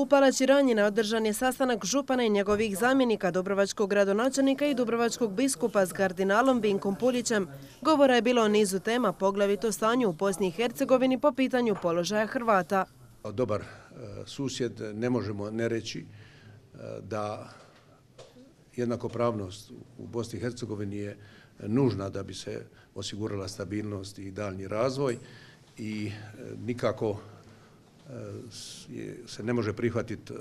U Palači Ranjine održan je sastanak župana i njegovih zamjenika, dubrovačkog gradonačelnika i dubrovačkog biskupa s kardinalom Vinkom Puljićem. Govora je bilo o nizu tema, poglavito stanju u Bosni i Hercegovini po pitanju položaja Hrvata. Dobar susjed ne možemo ne reći da jednakopravnost u Bosni i Hercegovini je nužna da bi se osigurala stabilnost i daljnji razvoj i nikako se ne može prihvatiti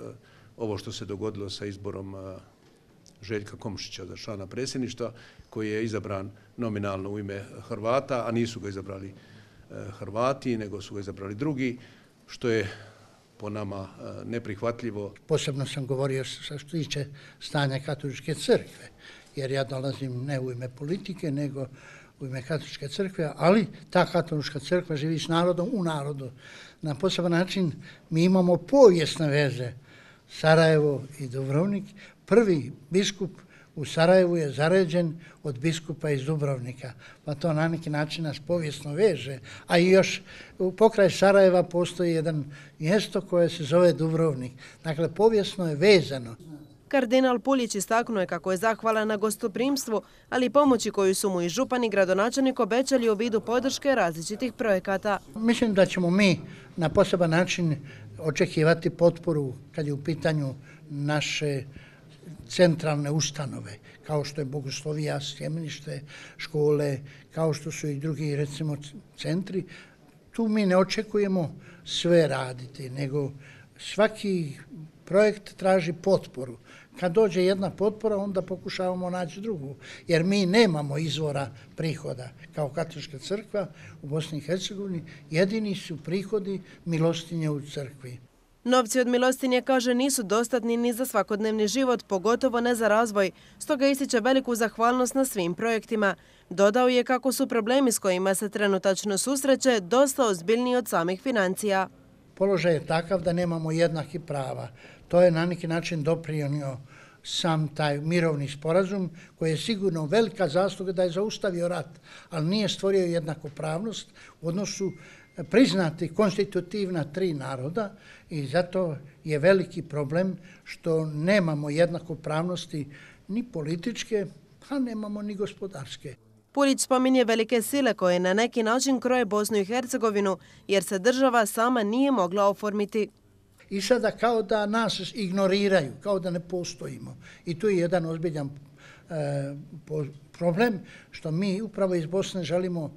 ovo što se dogodilo sa izborom Željka Komšića za člana predsjedništva, koji je izabran nominalno u ime Hrvata, a nisu ga izabrali Hrvati, nego su ga izabrali drugi, što je po nama neprihvatljivo. Posebno sam govorio što se tiče stanja Katoličke crkve, jer ja dolazim ne u ime politike, nego u ime Katoličke crkve, ali ta Katolička crkva živi s narodom u narodu. Na poseban način mi imamo povijesne veze, Sarajevo i Dubrovnik. Prvi biskup u Sarajevu je zaređen od biskupa iz Dubrovnika, pa to na neki način nas povijesno veže. A i još pokraj Sarajeva postoji jedan mjesto koje se zove Dubrovnik. Dakle, povijesno je vezano. Kardinal Puljić istaknuo je kako je zahvalan na gostoprimstvu, ali i pomoći koju su mu i župan i gradonačelnik obećali u vidu podrške različitih projekata. Mislim da ćemo mi na poseban način očekivati potporu kad je u pitanju naše centralne ustanove, kao što je Bogoslovija, sjemenište, škole, kao što su i drugi, recimo, centri. Tu mi ne očekujemo sve raditi, nego svaki projekt traži potporu. Kad dođe jedna potpora, onda pokušavamo naći drugu, jer mi nemamo izvora prihoda. Kao Katolička crkva u Bosni i Hercegovini jedini su prihodi milostinje u crkvi. Novci od milostinje, kaže, nisu dostatni ni za svakodnevni život, pogotovo ne za razvoj, stoga ističe veliku zahvalnost na svim projektima. Dodao je kako su problemi s kojima se trenutačno susreće dosta ozbiljniji od samih financija. Položaj je takav da nemamo jednakih prava. To je na neki način doprinio sam taj mirovni sporazum, koji je sigurno velika zasluga da je zaustavio rat, ali nije stvorio jednakopravnost u odnosu priznati konstitutivna tri naroda i zato je veliki problem što nemamo jednakopravnosti ni političke, a nemamo ni gospodarske. Puljić spominje velike sile koje na neki način kroje Bosnu i Hercegovinu, jer se država sama nije mogla oformiti. I sada kao da nas ignoriraju, kao da ne postojimo. I tu je jedan ozbiljan problem što mi upravo iz Bosne želimo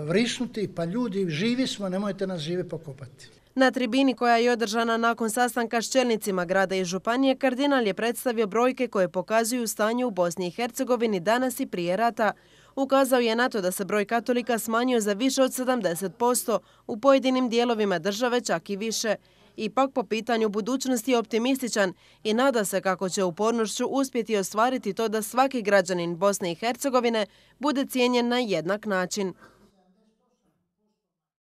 vrisnuti, pa ljudi, živi smo, nemojte nas žive pokopati. Na tribini koja je održana nakon sastanka s čelnicima grada i županije, kardinal je predstavio brojke koje pokazuju stanje u Bosni i Hercegovini danas i prije rata. Ukazao je na to da se broj katolika smanjio za više od 70%, u pojedinim dijelovima države čak i više. Ipak po pitanju budućnosti je optimističan i nada se kako će upornošću uspjeti ostvariti to da svaki građanin Bosne i Hercegovine bude cijenjen na jednak način.